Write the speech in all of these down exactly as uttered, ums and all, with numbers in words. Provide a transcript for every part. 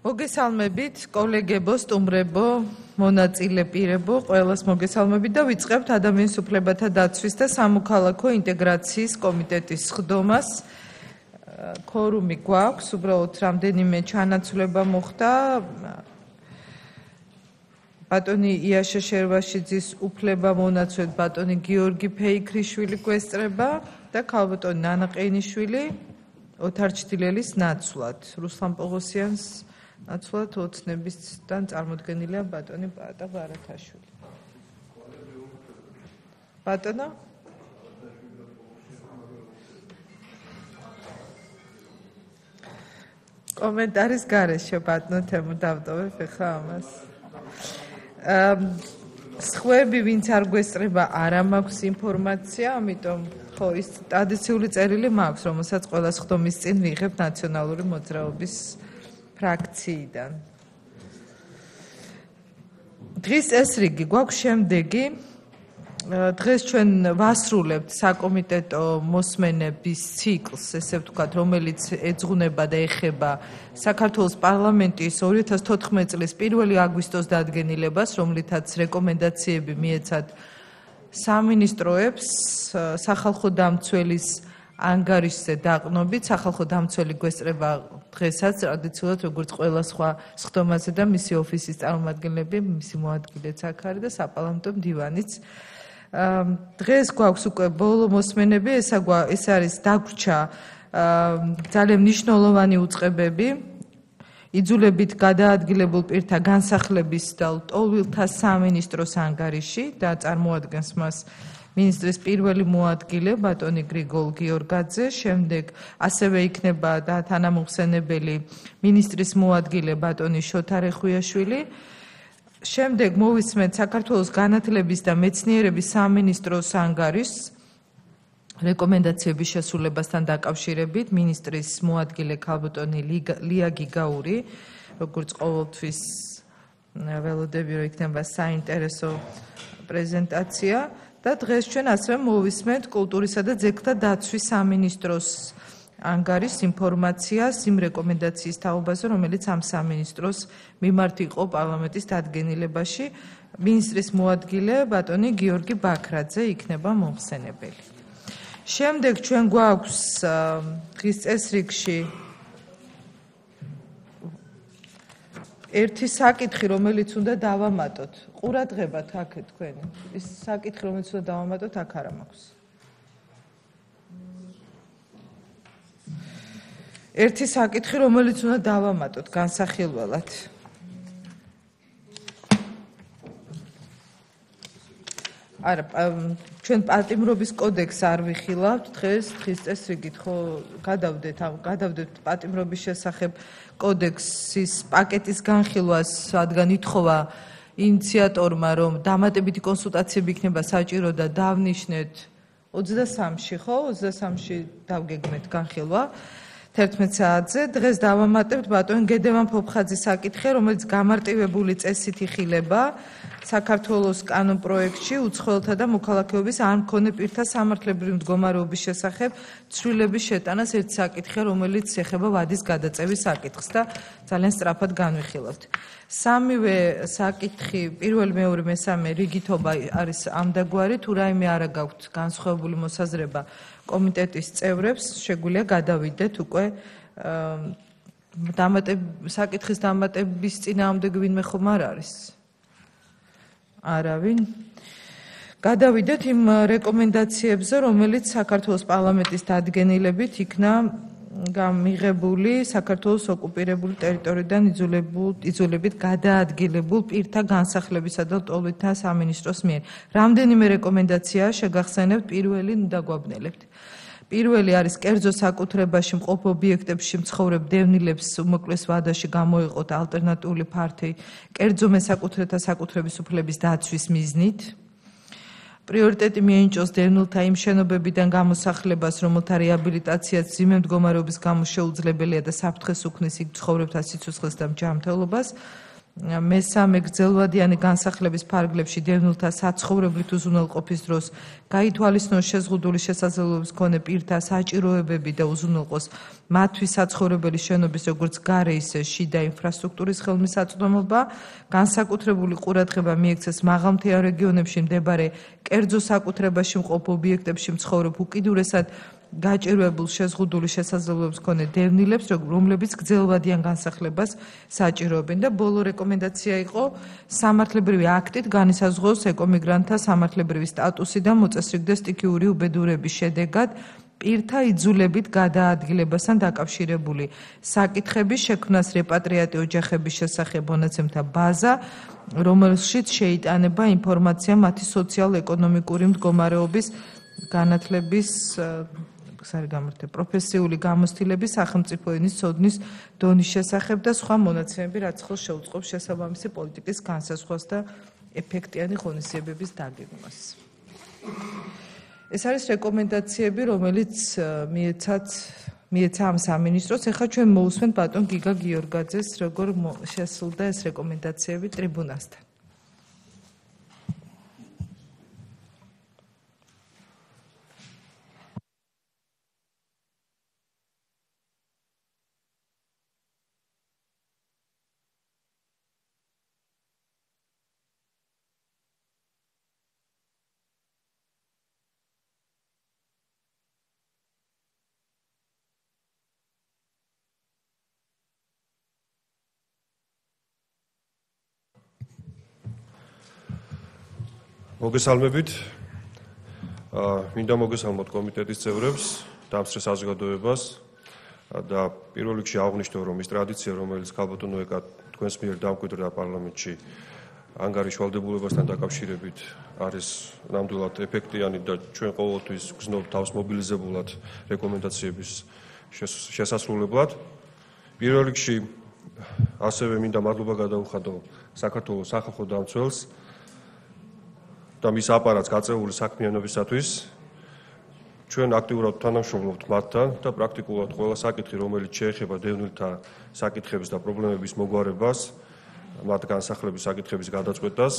მოგესალმებით, კოლეგებო, სტუმრებო, მონაწილე პირებო, ყველას მოგესალმებით და ვიწყებთ ადამიანის უფლებათა დაცვის და სამოქალაქო ინტეგრაციის კომიტეტის სხდომას. Ქორუმი გვაქვს, უბრალოდ რამდენიმე ჩანაცვლება მოხდა. ბატონი იაშა შერვაშიძის უფლება მონაცვლად ბატონი გიორგი ფეიქრიშვილი გვესწრება და ქალბატონი ნანა ყეინიშვილი ოთარ ჩtildeლის ნაცვლად. რუსლან პოღოსიანს ნაცვლად ოცნებისგან წარმოდგენილია ბატონი პაატა ბარათაშვილი. ბატონო? კომენტარის გარეშე ბატონო თემო დავტოვებ ახლა ამას. სხვები ვინც არ გვესწრება არა მაქვს ინფორმაცია, ამიტომ ხო ის ტრადიციული წერილი მაქვს, რომელსაც ყველა სხდომის წინ ვიღებ ნაციონალური მოძრაობის ფრაქციიდან. დღის ეს რიგი გვაქვს შემდეგი. დღეს ჩვენ ვასრულებთ საკომიტეტო მოსმენების ციკლს, ესე ვთქვათ, რომელიც ეძღვნება და ეხება საქართველოს პარლამენტის ორი ათას თოთხმეტი წლის პირველი აგვისტოს დადგენილებას, რომლითაც რეკომენდაციები მიეცათ სამინისტროებს სახალხო დამცველის ანგარიშზე დაყნობით. სახალხო დამცველი გვესწრება დღესაც ტრადიციულად როგორც ყველა სხვა სხდომაზე და მისი ოფისის წარმომადგენლები, მისი მოადგილეც აქ არის და საპარლამენტო მდივანიც. დღეს გვაქვს უკვე ბოლო მოსმენები, ეს არის დაგვრჩა ძალიან მნიშვნელოვანი უწყებები, იძულებით გადაადგილებულ პირთა განსახლების და ლტოლვილთა სამინისტროს ანგარიში და წარმოადგენს მას მინისტრის პირველი მოადგილე ბატონი გრიგოლ გიორგაძე, შემდეგ ასევე იქნება და თანამოხსენებელი მინისტრის მოადგილე ბატონი შოთა რეხვიაშვილი. შემდეგ მოვისმენთ საქართველოს განათლების და მეცნიერების სამინისტროს ანგარიშს რეკომენდაციების შესრულებასთან დაკავშირებით მინისტრის მოადგილე ქალბატონი ლია გიგაური, როგორც ყოველთვის ველოდები რომ იქნება საინტერესო პრეზენტაცია და დღეს ჩვენ ასევე მოვისმენთ კულტურისა და ძეგლთა დაცვის სამინისტროს ანგარიშს ინფორმაციას იმ რეკომენდაციის თაობაზე, რომელიც ამ სამინისტროს მიმართ იყო პარლამენტის დადგენილებაში. მინისტრის მოადგილე ბატონი გიორგი ბაქრაძე იქნება მომხსენებელი. შემდეგ ჩვენ გვაქვს დღის წესრიგში ერთი საკითხი, რომელიც უნდა დავამატოთ. ყურადღებათ აქ თქვენი. ის საკითხი, რომელიც უნდა დავამატოთ, აქ არა მაქვს. ერთი საკითხი, რომელიც უნდა დავამატოთ განსახილველად. არა, ჩვენ პატიმრობის კოდექსს არ ვიხილავთ დღეს, დღის წესრიგით ხო გადავდეთ, გადავდეთ პატიმრობის შესახებ კოდექსის პაკეტის განხილვას, რადგან ითხოვა ინიციატორმა, რომ დამატებითი კონსულტაციები იქნება საჭირო და დავნიშნეთ ოცდასამში, ხო? ოცდასამში დავგეგმეთ განხილვა. თერთმეტ საათზე დღეს დავამატებთ ბატონ გედევან ფოფხაძის საკითხი, რომელიც გამარტივებული წესით იხილება საქართველოს კანონ პროექტში უცხოელთა და მოქალაქეობის არ მქონე პირთა სამართლებრივი მდგომარეობის შესახებ ცვლილების შეტანას ერთ საკითხია, რომელიც ეხება ვადის გადაწევის საკითხს და ძალიან სწრაფად განვიხილავთ. სამივე საკითხი, პირველი, მეორე, მესამე რიგითობა არის ამდაგვარი, თუ რაიმე არა გაქვთ განსხვავებული მოსაზრება კომიტეტის წევრებს, შეგვიძლია გადავიდეთ უკვე საკითხის დამატების წინააღმდეგ ვინმე ხომ არ არის? არავინ. გადავიდეთ იმ რეკომენდაციებზე, რომელიც საქართველოს პარლამენტის დადგენილებით იქნა გამიღებული საქართველოს ოკუპირებული ტერიტორიიდან იძულებით გადაადგილებულ პირთა განსახლებისა და ლტოლვილთა სამინისტროს მიერ. რამდენიმე რეკომენდაციაა შეგახსენებთ, პირველი დაგვაბნელებთ. პირველი არის კერძო საკუთრებაში მყოფ ობიექტებში მცხოვრებ დევნილებს უმოკლეს ვადაში გამოეყოთ ალტერნატიული ფართი კერძო მესაკუთრეთა საკუთრების უფლების დაცვის მიზნით. პრიორიტეტი მიენიჭოს დევნილთა იმ შენობებიდან გამოსახლებას, რომელთა რეაბილიტაციაც მძიმე მდგომარეობის გამო შეუძლებელია და საფრთხეს უქმნის იქ მცხოვრებთა სიცოცხლეს და ჯანმრთელობას. მესამე გრძელვადიანი განსახლების ფარგლებში დევნილთა საცხოვრებლით უზრუნველყოფის დროს გაითვალისწინოს შეზღუდული შესაძლებლობის მქონე პირთა საჭიროებები და უზრუნველყოს მათთვის საცხოვრებელი შენობის როგორც გარე ისე შიდა ინფრასტრუქტურის ხელმისაწვდომობა, განსაკუთრებული ყურადღება მიექცეს მაღალმთიან რეგიონებში მდებარე კერძო საკუთრებაში მყოფ ობიექტებში მცხოვრებ უკიდურესად გაჭირვებულ შეზღუდული შესაძლებლობის მქონე დევნილებს, რომლებიც გრძელვადიან განსახლებას საჭიროებენ და ბოლო რეკომენდაცია იყო სამართლებრივი აქტით განისაზღვროს ეკომიგრანტთა სამართლებრივი სტატუსი და მოწესრიგდეს სტიქიური უბედურების შედეგად პირთა იძულებით გადაადგილებასთან დაკავშირებული საკითხების შექმნას რეპატრიატი ოჯახების შესახებ მონაცემთა ბაზა, რომელშიც შეიტანება ინფორმაცია მათი სოციალ-ეკონომიკური მდგომარეობის განათლების პროფესიული გამოცდილების სახელმწიფო ენის ცოდნის დონის შესახებ და სხვა მონაცემები, რაც ხელს შეუწყობს შესაბამისი პოლიტიკის განსაზღვრას და ეფექტიანი ღონისძიებების დაგეგმვას. ეს არის რეკომენდაციები, რომელიც მიეცათ მიეცა ამ სამინისტროს. ეხლა ჩვენ მოусვენთ ბატონ გიგა გიორგაძეს, როგორ შესრულდა ეს რეკომენდაციები ტრიბუნასთან. მოგესალმებით. მინდა მოგესალმოთ კომიტეტის წევრებს, დამსწრე საზოგადოებას და პირველ რიგში აღვნიშნო, რომ ის ტრადიცია, რომელიც ქალბატონო ეკა თქვენს მიერ დამკვიდრდა პარლამენტში ანგარიშ ვალდებულებასთან დაკავშირებით, არის ნამდვილად ეფექტიანი და ჩვენ ყოველთვის გრძნობთ თავს მობილიზებულად რეკომენდაციების შესასრულებლად. პირველ რიგში ასევე მინდა მადლობა გადაუხადო საქართველოს სახალხო დამცველს და მის აპარატს გაწეული საქმიანობისათვის. ჩვენ აქტიურად თანამშრომლობთ მათთან და პრაქტიკულად ყველა საკითხი, რომელიც შეეხება დევნილთა საკითხების და პრობლემების მოგვარებას, მათ განსახლების საკითხების გადაწყვეტას,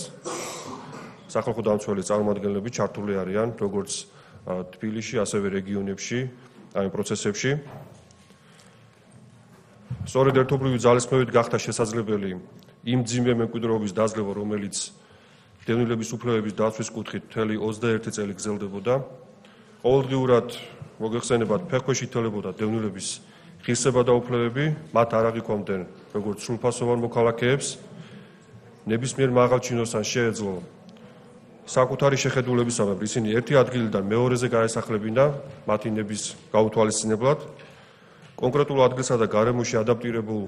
სახალხო დამცველის წარმომადგენლები ჩართული არიან როგორც თბილისში, ასევე რეგიონებში, ამ პროცესებში. სწორედ ერთობლივი ძალისხმევით გახდა შესაძლებელი იმ მძიმე მემკვიდრეობის დაძლევა, რომელიც დევნილების უფლებების დაცვის კუთხით მთელი ოცდაერთი წელი გრძელდებოდა. ყოველდღიურად მოგეხსენებათ, ფეხქვეშ ითვლებოდა დევნილების ღირსება და უფლებები, მათ არ აღიქვამდნენ როგორც სრულფასოვან მოქალაქეებს, ნებისმიერ მაღალ ჩინოსთან შეეძლო საკუთარი შეხედულებისამებრ ისინი ერთი ადგილიდან მეორეზე გაესახლებინა მათი ნების გაუთვალისწინებლად. კონკრეტულ ადგილსა და გარემოში ადაპტირებულ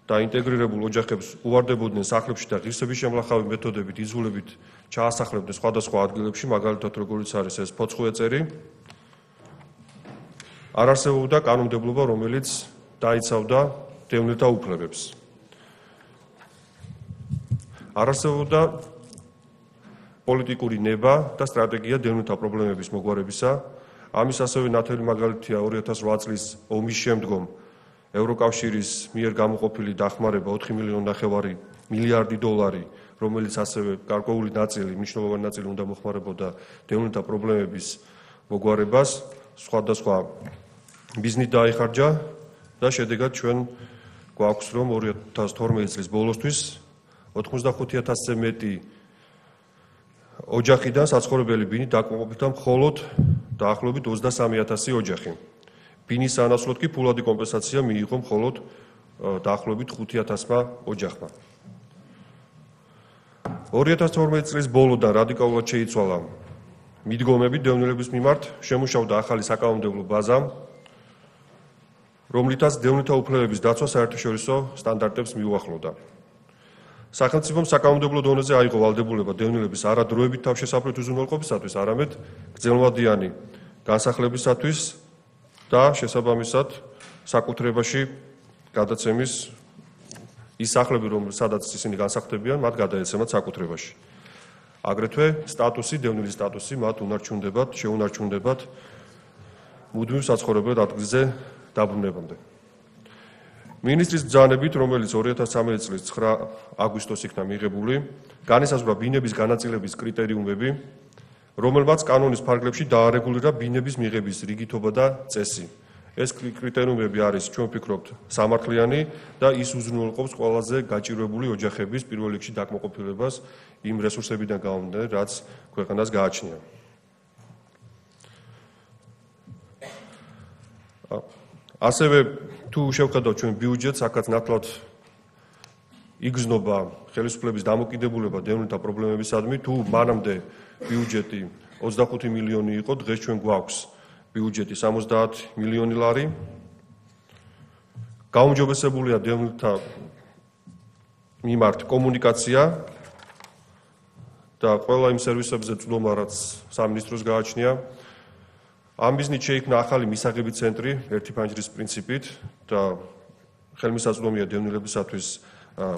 და ინტეგრირებულ ოჯახებს უვარდებოდნენ სახლებში და ღირსების შემლახავი მეთოდებით იძულებით ჩაასახლებდნენ სხვადასხვა ადგილებში, მაგალითად როგორიც არის ეს ფოცხუეწერი. არ არსებობდა კანონმდებლობა, რომელიც დაიცავდა დევნილთა უფლებებს. არ არსებობდა პოლიტიკური ნება და სტრატეგია დევნილთა პრობლემების მოგვარებისა. ამის ასევე ნათელი მაგალითია ორი ათას რვა წლის ომის შემდგომ ევროკავშირის მიერ გამოყოფილი დახმარება ოთხი მილიონი ნახევარი მილიარდი დოლარი, რომელიც ასევე გარკვეული ნაწილი, მნიშვნელოვანი ნაწილი უნდა მოხმარებოდა დევნილთა პრობლემების მოგვარებას, სხვადასხვა ბიზნით დაიხარჯა და შედეგად ჩვენ გვაქვს, რომ ორი ათას თორმეტი წლის ბოლოსთვის ოცდახუთი ათასზე მეტი ოჯახიდან საცხოვრებელი ბინით დაკმაყოფილდა მხოლოდ დაახლოებით ოცდასამი ათასი ოჯახი. ბინის ანაცვლოდ კი ფულადი კომპენსაცია მიიღო მხოლოდ დაახლოებით ხუთი ათასმა ოჯახმა. ორი ათას თორმეტი წლის ბოლოდან რადიკალურად შეიცვალა მიდგომები დევნილების მიმართ, შემუშავდა ახალი საკანონმდებლო ბაზა, რომლითაც დევნილთა უფლებების დაცვა საერთაშორისო სტანდარტებს მიუახლოვდა. სახელმწიფომ საკანონმდებლო დონეზე აიღო ვალდებულება დევნილების არადროებით თავშესაფრით უზრუნველყოფისათვის, არამედ გრძელვადიანი განსახლებისათვის და შესაბამისად საკუთრებაში გადაცემის ის სახლები, სადაც ისინი განსახდებიან, მათ გადაეცემათ საკუთრებაში. აგრეთვე სტატუსი, დევნილის სტატუსი მათ უნარჩუნდებათ, შეუნარჩუნდებათ მუდმივ საცხოვრებელ ადგილზე დაბრუნებამდე. მინისტრის ბრძანებით, რომელიც ორი ათას ცხრამეტი წლის ცხრა აგვისტოს იქნა მიღებული, განისაზღვრა ბინების განაწილების კრიტერიუმები, რომელმაც კანონის ფარგლებში დაარეგულირა ბინების მიღების რიგითობა და წესი. ეს კრიტერიუმები არის, ჩვენ ვფიქრობთ, სამართლიანი და ის უზრუნველყოფს ყველაზე გაჭირვებული ოჯახების პირველ რიგში დაკმაყოფილებას იმ რესურსებიდან გამომდინარე, რაც ქვეყანას გააჩნია. ასევე თუ შევხედავთ ჩვენ ბიუჯეტს, აქაც ნათლად იგრძნობა ხელისუფლების დამოკიდებულება დევნილთა პრობლემებისადმი, თუ მანამდე ბიუჯეტი ოცდახუთი მილიონი იყო, დღეს ჩვენ გვაქვს ბიუჯეტი სამოცდაათი მილიონი ლარი. გაუმჯობესებულია დევნილთა მიმართ კომუნიკაცია და ყველა იმ სერვისებზე წვდომა, რაც სამინისტროს გააჩნია. ამ მიზნით შეიქმნა ახალი მისაღები ცენტრი ერთი ფანჯრის პრინციპით და ხელმისაწვდომია დევნილებისათვის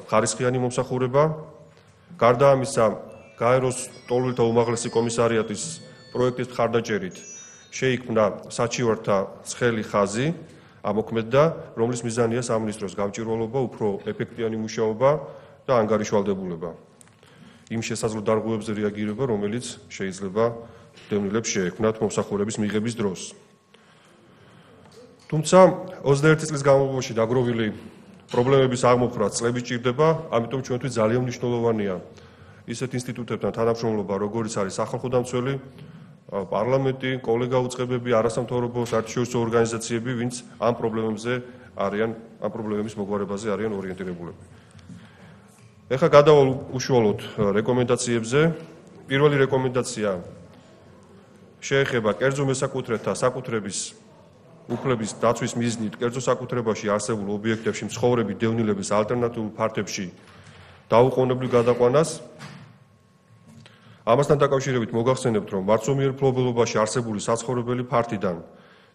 ხარისხიანი მომსახურება. გარდა ამისა, გაეროს ტოლვილთა უმაღლესი კომისარიატის პროექტის მხარდაჭერით შეიქმნა საჩივართა ცხელი ხაზი ამოქმედდა, რომლის მიზანია სამინისტროს გამჭვირვალობა, უფრო ეფექტიანი მუშაობა და ანგარიშვალდებულება. იმ შესაძლო დარღვევებზე რეაგირება, რომელიც შეიძლება დევნილებს შეექმნათ მომსახურების მიღების დროს. თუმცა ოცდაერთი წლის განმავლობაში დაგროვილი პრობლემების აღმოფხვრა წლები სჭირდება, ამიტომ ჩვენთვის ძალიან მნიშვნელოვანია ისეთ ინსტიტუტებთან თანამშრომლობა, როგორიც არის სახალხო დამცველი, პარლამენტი, კოლეგა უწყებები, არასამთავრობო საერთაშორისო ორგანიზაციები, ვინც ამ პრობლემებზე არიან, ამ პრობლემების მოგვარებაზე არიან ორიენტირებულები. ეხლა გადავალ უშუალოდ რეკომენდაციებზე. პირველი რეკომენდაცია შეეხება კერძო მესაკუთრეთა საკუთრების უფლების დაცვის მიზნით კერძო საკუთრებაში არსებულ ობიექტებში მცხოვრები დევნილების ალტერნატიულ ფართებში დაუყოვნებლივ გადაყვანას. ამასთან დაკავშირებით მოგახსენებთ, რომ მარცომიერ მფლობელობაში არსებული საცხოვრებელი ფართიდან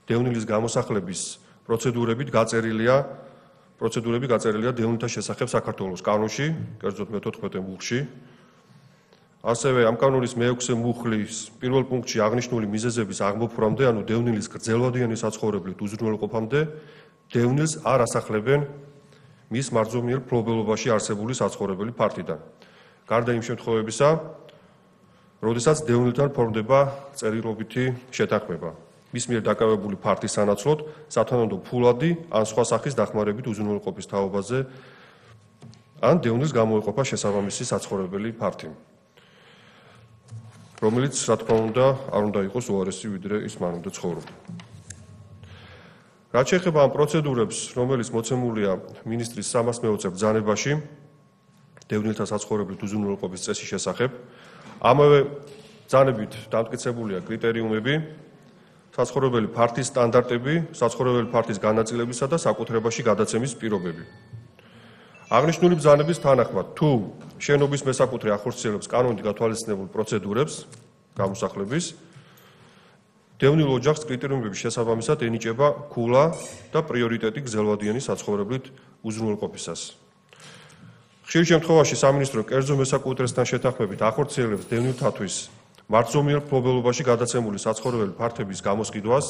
დევნილის გამოსახლების პროცედურებით გაწერილია პროცედურები გაწერილია დევნილთა შესახებ საქართველოს კანონში, კერძოდ მეთოთხმეტე მუხლში. ასევე ამ კანონის მეექვსე მუხლის პირველ პუნქტში აღნიშნული მიზეზების აღმოფხვრამდე, ანუ დევნილის გრძელვადიანი საცხოვრებლით უზრუნველყოფამდე, დევნილს არ ასახლებენ მის მარცომიერ მფლობელობაში არსებული საცხოვრებელი ფართიდან. გარდა იმ შემთხვევებისა, როდესაც დევნილთან ფორმდება წერილობითი შეთანხმება. მის მიერ დაკავებული ფართის სანაცვლოდ სათანადო ფულადი ან სხვა სახის დახმარებით უზრუნველყოფის თაობაზე ან დევნილს გამოეყოფა შესაბამისი საცხოვრებელი ფართი, რომელიც, რა თქმა უნდა, არ უნდა იყოს უარესი, ვიდრე ის მანამდე ცხოვრობდა. რაც შეეხება ამ პროცედურებს, რომელიც მოცემულია მინისტრის სამას მეოცე ბრძანებაში დევნილთა საცხოვრებლით უზრუნველყოფის წესის შესახებ, ამავე ბრძანებით დამტკიცებულია კრიტერიუმები, საცხოვრებელი ფართის სტანდარტები, საცხოვრებელი ფართის განაწილებისა და საკუთრებაში გადაცემის პირობები. აღნიშნული ბრძანების თანახმად, თუ შენობის მესაკუთრე ახორციელებს კანონით გათვალისწინებულ პროცედურებს გამოსახლების, დევნილ ოჯახს კრიტერიუმების შესაბამისად ენიჭება ქულა და პრიორიტეტი გრძელვადიანი საცხოვრებლით უზრუნველყოფისას. ხშირ შემთხვევაში სამინისტრო კერძო მესაკუთრესთან შეთანხმებით ახორციელებს დევნილთათვის მარცომიერ მფლობელობაში გადაცემული საცხოვრებელი ფართების გამოსყიდვას.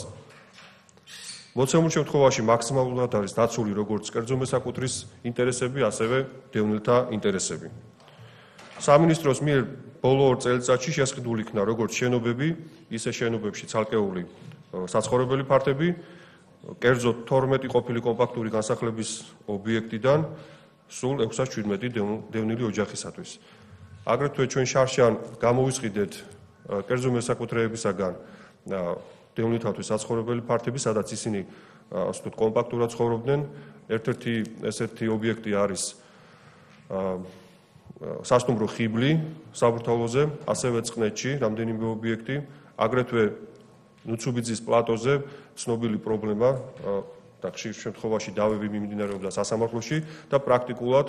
მოცემულ შემთხვევაში მაქსიმალურად არის დაცული როგორც კერძო მესაკუთრის ინტერესები, ასევე დევნილთა ინტერესები. სამინისტროს მიერ ბოლო ორ წელიწადში შესყიდული იქნა როგორც შენობები, ისე შენობებში ცალკეული საცხოვრებელი ფართები, კერძოდ თორმეტი ყოფილი კომპაქტური განსახლების ობიექტიდან სულ ექვსას შვიდმეტი დევნილი ოჯახისათვის. აგრეთვე ჩვენ შარშან გამოვისყიდეთ კერძო მესაკუთრეებისაგან დევნილთათვის საცხოვრებელი ფართები, სადაც ისინი ასე ვთქვათ კომპაქტურად ცხოვრობდნენ. ერთ-ერთი ესეთი ობიექტი არის სასტუმრო ხიბლი საბურთალოზე, ასევე წყნეთში რამდენიმე ობიექტი, აგრეთვე ნუცუბიძის პლატოზე ცნობილი პრობლემა და ხშირ შემთხვევაში დავები მიმდინარეობდა სასამართლოში და პრაქტიკულად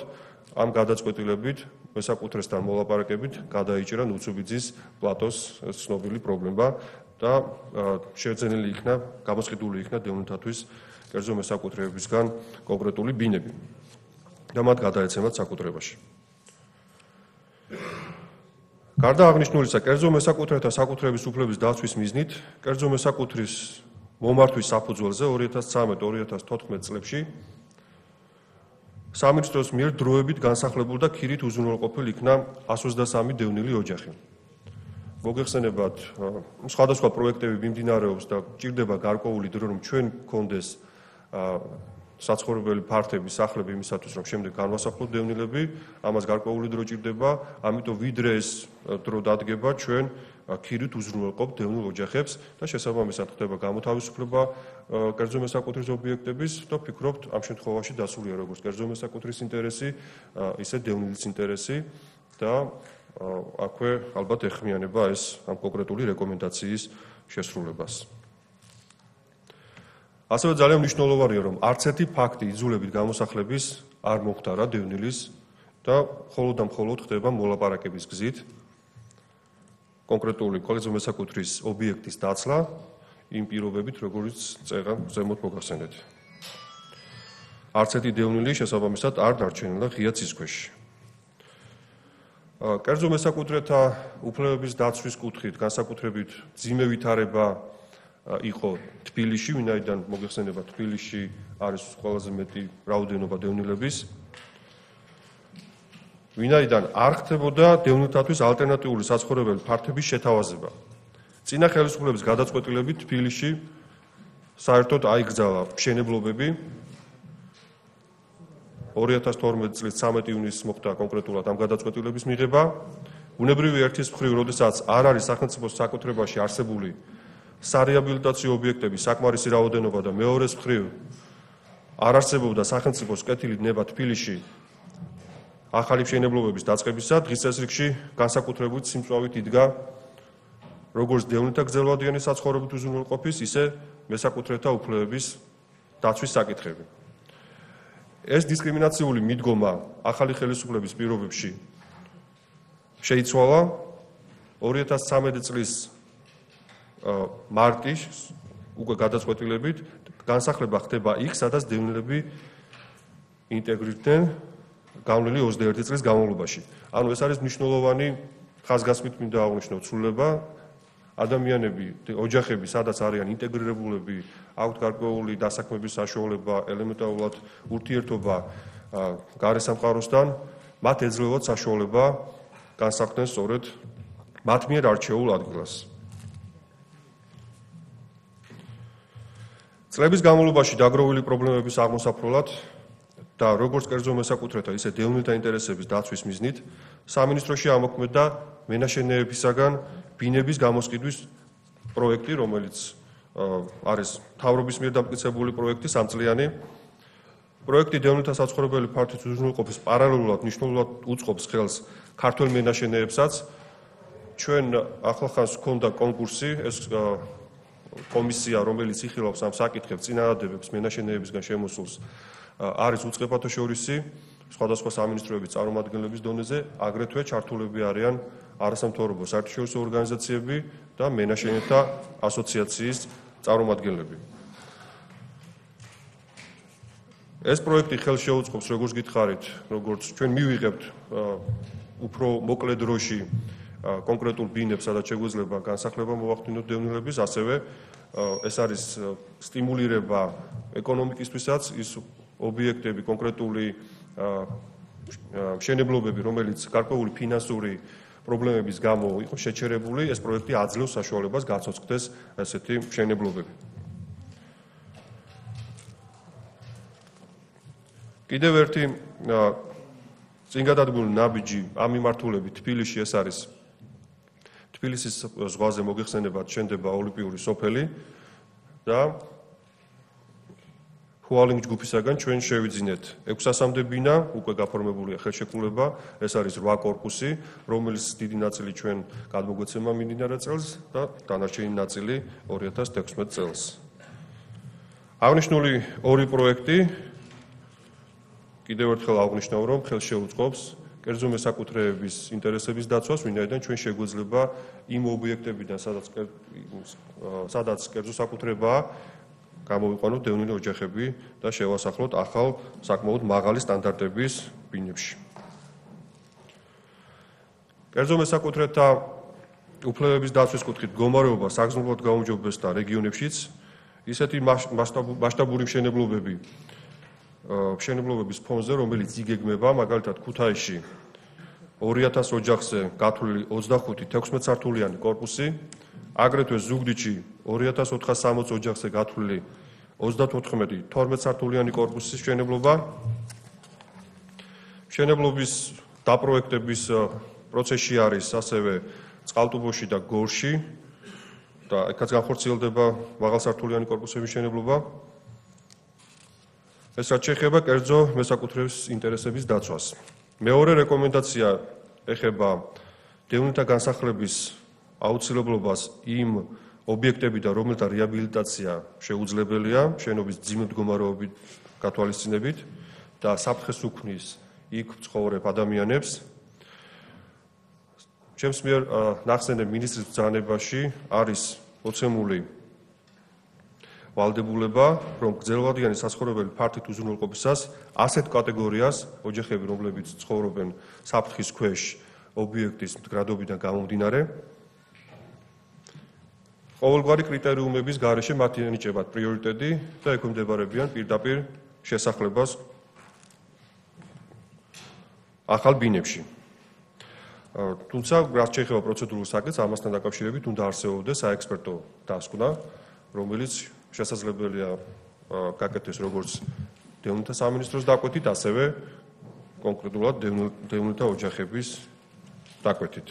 ამ გადაწყვეტილებით მესაკუთრესთან მოლაპარაკებით გადაიჭრა ნუცუბიძის პლატოს ცნობილი პრობლემა და შეძენილი იქნა, გამოსყიდული იქნა დევნილთათვის კერძო მესაკუთრეებისგან კონკრეტული ბინები და მათ გადაეცემათ საკუთრებაში. გარდა აღნიშნულისა, კერძო მესაკუთრეთა საკუთრების უფლების დაცვის მიზნით, კერძო მესაკუთრის მომართვის საფუძველზე ორი ათას ცხრამეტ ორი ათას თოთხმეტ წლებში სამინისტროს მიერ დროებით განსახლებულ და ქირით უზრუნველყოფილ იქნა ას ოცდასამი დევნილი ოჯახი. მოგეხსენებათ, სხვადასხვა პროექტები მიმდინარეობს და ჭირდება გარკვეული დრო, რომ ჩვენ გქონდეს საცხოვრებელი ფართები, სახლები იმისათვის, რომ შემდეგ განვასახლოთ დევნილები, ამას გარკვეული დრო ჭირდება, ამიტომ ვიდრე ეს დრო დადგება, ჩვენ ქირით უზრუნველყოფთ დევნილ ოჯახებს და შესაბამისად ხდება გამოთავისუფლება კერძო მესაკუთრის ობიექტების და ვფიქრობთ, ამ შემთხვევაში დასულია როგორც კერძო მესაკუთრის ინტერესი, ისე დევნილის ინტერესი და აქვე ალბათ ეხმიანება ეს ამ კონკრეტული რეკომენდაციის შესრულებას. ასევე ძალიან მნიშვნელოვანია, რომ არც ერთი ფაქტი იძულებით გამოსახლების არ მოხდარა დევნილის და მხოლოდ და მხოლოდ ხდება მოლაპარაკების გზით კონკრეტული კერძო მესაკუთრის ობიექტის დაცლა იმ პირობებით, როგორც წერა ზემოთ მოგახსენეთ. არც ერთი დევნილი შესაბამისად არ დარჩენილა ღია ცის ქვეშ. კერძო მესაკუთრეთა უფლებების დაცვის კუთხით განსაკუთრებით მძიმე ვითარება იყო თბილისში, ვინაიდან მოგეხსენება თბილისში არის ყველაზე მეტი რაოდენობა დევნილების. ვინაიდან არ ხდებოდა დევნილთათვის ალტერნატიული საცხოვრებელი ფართების შეთავაზება. წინა ხელისუფლების გადაწყვეტილებით თბილისში საერთოდ აიგრძალა მშენებლობები. ორი ათას თორმეტი წლის ცამეტი ივნისს მოხდა კონკრეტულად ამ გადაწყვეტილების მიღება. ბუნებრივი ერთის მხრივ, როდესაც არ არის სახელმწიფოს საკუთრებაში არსებული სარეაბილიტაციო ობიექტების საკმარისი რაოდენობა და მეორეს მხრივ არ არსებობდა სახელმწიფოს კეთილი ნება თბილისში ახალი მშენებლობების დაწყებისა, დღის წესრიგში განსაკუთრებით სიმწვავით იდგა როგორც დევნილთა გრძელვადიანი საცხოვრებით უზრუნველყოფის, ისე მესაკუთრეთა უფლებების დაცვის საკითხები. ეს დისკრიმინაციული მიდგომა ახალი ხელისუფლების პირობებში შეიცვალა ორი ათას ცამეტი წლის მარტის უკვე გადაწყვეტილებით განსახლება ხდება იქ, სადაც დევნილები ინტეგრირდნენ გავლილი ოცდაერთი წლის განმავლობაში. ანუ ეს არის მნიშვნელოვანი ხაზგასმით მინდა აღვნიშნო ცვლილება. ადამიანები, ოჯახები, სადაც არიან ინტეგრირებულები, აქვთ გარკვეული დასაქმების საშუალება, ელემენტარულად ურთიერთობა გარე სამყაროსთან, მათ ეძლევათ საშუალება განსახლდნენ სწორედ მათ მიერ არჩეულ ადგილას. წლების განმავლობაში დაგროვილი პრობლემების აღმოსაფრულად და როგორც კერძო მესაკუთრეთა, ისე დევნილთა ინტერესების დაცვის მიზნით სამინისტროში ამოქმედა მენაშენეებისაგან ბინების გამოსყიდვის პროექტი, რომელიც არის მთავრობის მიერ დამტკიცებული პროექტი, სამწლიანი. პროექტი დევნილთა საცხოვრებელი ფართის უზრუნველყოფის პარალელურად მნიშვნელოვნად უწყობს ხელს ქართველ მენაშენეებსაც. ჩვენ ახლახანს ჰქონდა კონკურსი, ეს კომისია, რომელიც იხილავს ამ საკითხებს, წინადადებებს მენაშენეებისგან შემოსულს, არის უწყებათაშორისი სხვადასხვა სამინისტროების წარმომადგენლების დონეზე, აგრეთვე ჩართულები არიან არასამთავრობო საერთაშორისო ორგანიზაციები და მენაშენეთა ასოციაციის წარმომადგენლები. ეს პროექტი ხელს შეუწყობს, როგორც გითხარით, როგორც ჩვენ მივიღებთ უფრო მოკლე დროში კონკრეტულ ბინებს, სადაც შეგვიძლია განსახლება მოვახდინოთ დევნილების, ასევე ეს არის სტიმულირება ეკონომიკისთვისაც, ის ობიექტები, კონკრეტული მშენებლობები, რომელიც გარკვეული ფინანსური პრობლემების გამო იყო შეჩერებული, ეს პროექტი აძლევს საშუალებას გაცოცხლდეს ესეთი მშენებლობები. კიდევ ერთი წინგადადგმული ნაბიჯი ამ მიმართულებით თბილისში ეს არის თბილისის ზღვაზე მოგეხსენებათ შენდება ოლიმპიური სოფელი და ჰუალინგ ჯგუფისაგან ჩვენ შევიძინეთ ექვსასამდე ბინა, უკვე გაფორმებულია ხელშეკრულება, ეს არის რვა კორპუსი, რომელიც დიდი ნაწილი ჩვენ გადმოგვეცემა მიმდინარე წელს და დანარჩენი ნაწილი ორი ათას თექვსმეტ წელს. აღნიშნული ორი პროექტი კიდევ ერთხელ აღნიშნავ, რომ ხელს შეუწყობს კერძო მესაკუთრეების ინტერესების დაცვას, ვინაიდან ჩვენ შეგვეძლება იმ ობიექტებიდან, სადაც სადაც კერძო საკუთრებაა, გამოვიყვანოთ დევნილი ოჯახები და შევასახლოთ ახალ საკმაოდ მაღალი სტანდარტების ბინებში. კერძო მესაკუთრეთა უფლებების დაცვის კუთხით მდგომარეობა საგრძნობლად გაუმჯობესდა რეგიონებშიც, ისეთი მასშტაბური მშენებლობები მშენებლობების ფონზე, რომელიც იგეგმება, მაგალითად ქუთაისში ორი ათას ოჯახზე გათვლილი ოცდახუთი თექვსმეტსართულიანი კორპუსი, აგრეთვე ზუგდიდში ორი ათას ოთხას სამოცი ოჯახზე გათვლილი ოცდათოთხმეტი თორმეტსართულიანი კორპუსის მშენებლობა. მშენებლობის დაპროექტების პროცესში არის ასევე წყალტუბოში და გორში და ეკაც განხორციელდება მაღალსართულიანი კორპუსების მშენებლობა. ეს რაც შეეხება კერძო მესაკუთრების ინტერესების დაცვას. მეორე რეკომენდაცია ეხება დევნილთა განსახლების აუცილებლობას იმ ობიექტებიდან, რომელთა რეაბილიტაცია შეუძლებელია შენობის მძიმე მდგომარეობით გათვალისწინებით და საფრთხეს უქმნის იქ მცხოვრებ ადამიანებს. ჩემს მიერ ნახსენებ მინისტრის ბრძანებაში არის მოცემული ვალდებულება, რომ გრძელვადიანი საცხოვრებელი ფართით უზრუნველყოფისას ასეთ კატეგორიას ოჯახები, რომლებიც ცხოვრობენ საფრთხის ქვეშ ობიექტის მდგრადობიდან გამომდინარე, ყოველგვარი კრიტერიუმების გარეშე მათ ენიჭებათ პრიორიტეტი და ექვემდებარებიან პირდაპირ შესახლებას ახალ ბინებში. თუმცა, რაც შეეხება პროცედურულ საკითხს, ამასთან დაკავშირებით უნდა არსებობდეს საექსპერტო დასკვნა, რომელიც შესაძლებელია გაკეთდეს როგორც დევნილთა სამინისტროს დაკვეთით, ასევე კონკრეტულად დევნილთა ოჯახების დაკვეთით.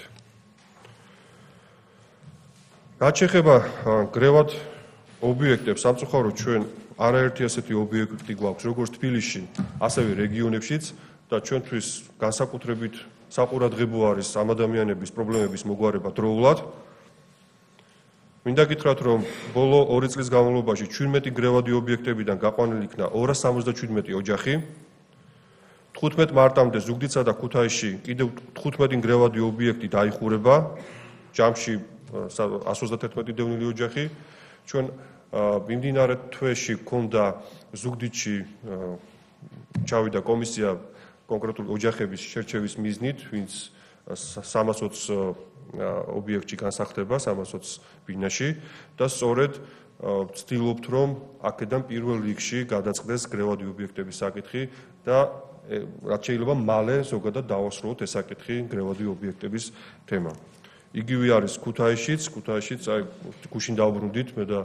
რაც შეეხება გრევად ობიექტებს, სამწუხაროდ ჩვენ არაერთი ასეთი ობიექტი გვაქვს, როგორც თბილისში, ასევე რეგიონებშიც და ჩვენთვის განსაკუთრებით საყურადღებო არის ამ ადამიანების პრობლემების მოგვარება დროულად. მინდა გითხრათ, რომ ბოლო ორი წლის განმავლობაში ჩვიდმეტი გრევადი ობიექტებიდან გაყვანილი იქნა ორას სამოცდაშვიდმეტი ოჯახი. თხუთმეტ მარტამდე ზუგდიდსა და ქუთაისში კიდევ თხუთმეტი გრევადი ობიექტი დაიხურება, ჯამში εκατს ოცდათერთმეტი დევნილი ოჯახი. ჩვენ მიმდინარე თვეში გქონდა ზუგდიდში ჩავიდა კომისია კონკრეტული ოჯახების შერჩევის მიზნით, ვინც სამას ოცი ობიექტში განსახლდება, სამას ოცი ბინაში და სწორედ ვცდილობთ, რომ აქედან პირველ რიგში გადაწყდეს გრევადი ობიექტების საკითხი და რაც შეიძლება მალე ზოგადად დავასრულოთ ეს საკითხი გრევადი ობიექტების თემა. იგივე არის ქუთაისშიც, ქუთაისშიც აი გუშინ დავბრუნდით მე და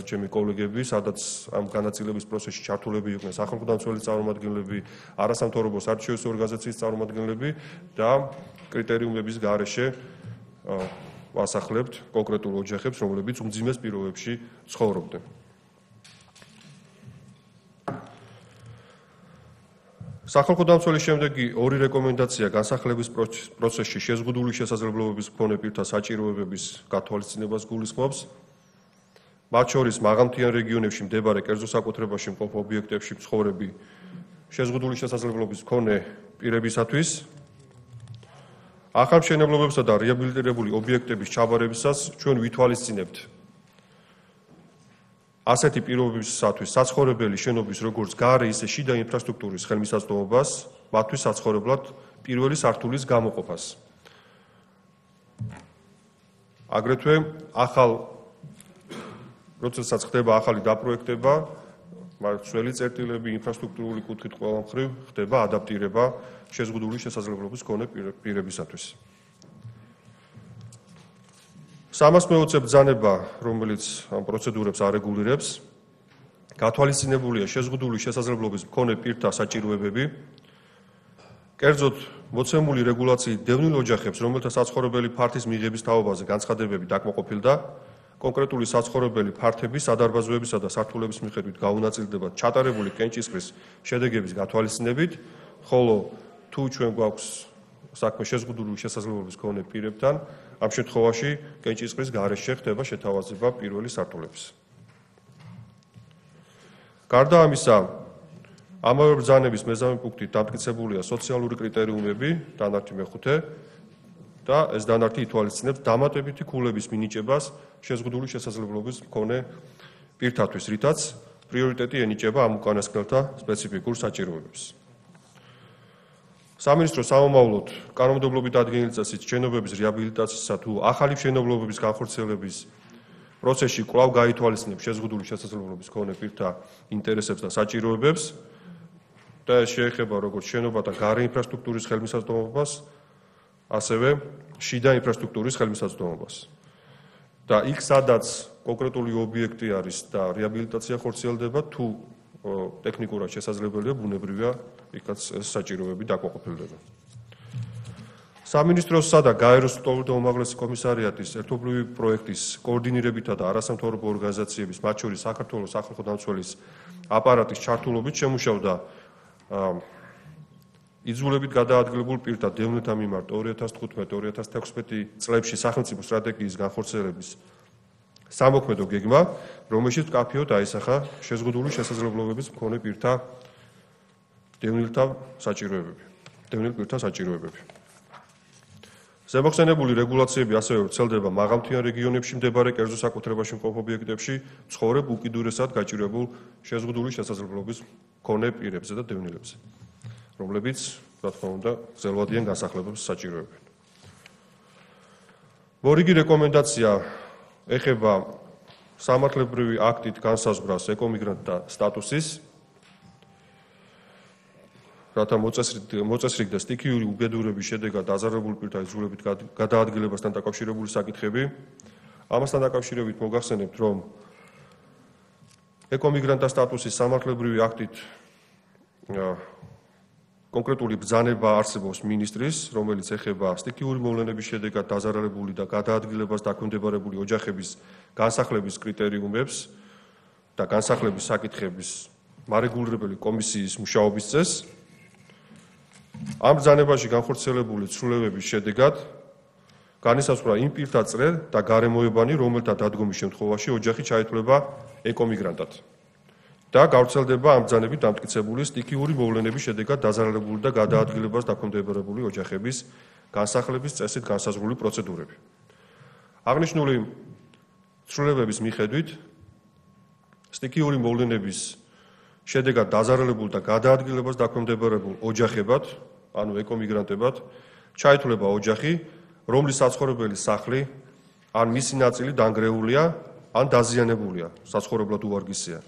ჩემი კოლეგები, სადაც ამ განაწილების პროცესში ჩართულები იყვნენ სახალხო დამცველის წარმომადგენლები, არასამთავრობო საერთაშორისო ორგანიზაციის წარმომადგენლები და კრიტერიუმების გარეშე ვასახლებთ კონკრეტულ ოჯახებს, რომლებიც უმძიმეს პირობებში ცხოვრობდნენ. სახალხო დამცველის შემდეგი ორი რეკომენდაცია განსახლების პროცესში შეზღუდული შესაძლებლობების მქონე პირთა საჭიროებების გათვალისწინებას გულისხმობს. მათ შორის მაღალმთიან რეგიონებში მდებარე კერძო საკუთრებაში მყოფ ობიექტებში მცხოვრები შეზღუდული შესაძლებლობის მქონე პირებისათვის, ახალ მშენებლობებსა და რეაბილიტირებული ობიექტების ჩაბარებისას ჩვენ ვითვალისწინებთ ასეთი პირობებისათვის საცხოვრებელი შენობის როგორც გარე, ისე შიდა ინფრასტრუქტურის ხელმისაწვდომობას, მათთვის საცხოვრებლად პირველი სართულის გამოყოფას. აგრეთვე ახალ როდესაც ხდება ახალი დაპროექტება, მართლი წერტილები, ინფრასტრუქტურული კუთხით ყველა მხრივ ხდება ადაპტირება შეზღუდული შესაძლებლობის მქონე პირებისათვის. სამას მეოცე ბრძანება, რომელიც ამ პროცედურებს არეგულირებს, გათვალისწინებულია შეზღუდული შესაძლებლობის მქონე პირთა საჭიროებები. კერძოდ მოცემული რეგულაციით დევნილ ოჯახებს, რომელთა საცხოვრებელი ფართის მიღების თაობაზე განცხადებები დაკმაყოფილდა, კონკრეტული საცხოვრებელი ფართების, სადარბაზოებისა და სართულების მიხედვით გაუნაწილდება ჩატარებული კენჭისყრის შედეგების გათვალისწინებით, ხოლო თუ ჩვენ გვაქვს საქმე შეზღუდული შესაძლებლობის მქონე პირებთან, ამ შემთხვევაში კენჭისყრის გარეშე ხდება შეთავაზება პირველი სართულების. გარდა ამისა, ამავე ბრძანების მეზამე პუნქტით დამტკიცებულია სოციალური კრიტერიუმები, დანართი მეხუთე და ეს დანართი ითვალისწინებს დამატებითი ქულების მინიჭებას შეზღუდული შესაძლებლობის მქონე პირთათვის, რითაც პრიორიტეტი ენიჭება ამ უკანასკნელთა სპეციფიკურ საჭიროებებს. სამინისტრო სამომავლოდ კანონმდებლობით ადგენილი წესით შენობების რეაბილიტაციისა თუ ახალი შენობების განხორციელების პროცესში კვლავ გაითვალისწინებს შეზღუდული შესაძლებლობის მქონე პირთა ინტერესებს და საჭიროებებს და ეს შეეხება როგორც შენობათა გარე ინფრასტრუქტურის ხელმისაწვდომობას, ასევე შიდა ინფრასტრუქტურის ხელმისაწვდომობას. და იქ სადაც კონკრეტული ობიექტი არის და რეაბილიტაცია ხორციელდება, თუ ტექნიკურად შესაძლებელია, ბუნებრივია, იქაც ეს საჭიროები დაკმაყოფილდება. სამინისტროსა და გაეროს ლტოლვილთა უმაღლესი კომისარიატის ერთობლივი პროექტის კოორდინირებითა და არასამთავრობო ორგანიზაციების, მათ შორის საქართველოს სახალხო დამცველის აპარატის ჩართულობით შემუშავდა იძულებით გადაადგილებულ პირთა დევნილთა მიმართ ორი ათას თხუთმეტი ორი ათას თექვსმეტი წლებში სახელმწიფო სტრატეგიის განხორციელების სამოქმედო გეგმა, რომელშიც მკაფიოდ აისახა შეზღუდული შესაძლებლობების მქონე პირთა დევნილთა საჭიროებები. დევნილ პირთა საჭიროებები. ზემოხსენებული რეგულაციები ასევე ვრცელდება მაღალმთიან რეგიონებში მდებარე კერძო საკუთრებაში მყოფ ობიექტებში ცხოვრებ უკიდურესად გაჭირვებულ შეზღუდული შესაძლებლობის მქონე პირებზე და დევნილებზე, რომლებიც, რა თქმა უნდა, გრძელვადიან განსახლებებს საჭიროებენ. მორიგი რეკომენდაცია ეხება სამართლებრივი აქტით განსაზღვრას ეკომიგრანტთა სტატუსის, რათა მოწესრიგ და სტიქიური უბედურების შედეგად დაზარალებული პირთა იძულებით გადაადგილებასთან დაკავშირებული საკითხები. ამასთან დაკავშირებით მოგახსენებთ, რომ ეკომიგრანტთა სტატუსის სამართლებრივი აქტით კონკრეტული ბრძანება არსებობს მინისტრის, რომელიც ეხება სტიქიური მოვლენების შედეგად დაზარალებული და გადაადგილებას დაქვემდებარებული ოჯახების განსახლების კრიტერიუმებს და განსახლების საკითხების მარეგულირებელი კომისიის მუშაობის წესს. ამ ბრძანებაში განხორციელებული ცვლილებების შედეგად განისაზღვრა იმ პირთა წრე და გარემოებანი, რომელთა დადგომის შემთხვევაში ოჯახი ჩაითვლება ეკომიგრანტად და გავრცელდება ამ ბრძანებით დამტკიცებული სტიქიური მოვლენების შედეგად დაზარალებული და გადაადგილებას დაქვემდებარებული ოჯახების განსახლების წესით განსაზღვრული პროცედურები. აღნიშნული ცვლილებების მიხედვით სტიქიური მოვლენების შედეგად დაზარალებულ და გადაადგილებას დაქვემდებარებულ ოჯახებად, ანუ ეკომიგრანტებად, ჩაითვლება ოჯახი, რომლის საცხოვრებელი სახლი ან მისი ნაწილი დანგრეულია, ან დაზიანებულია, საცხოვრებლად უვარგისია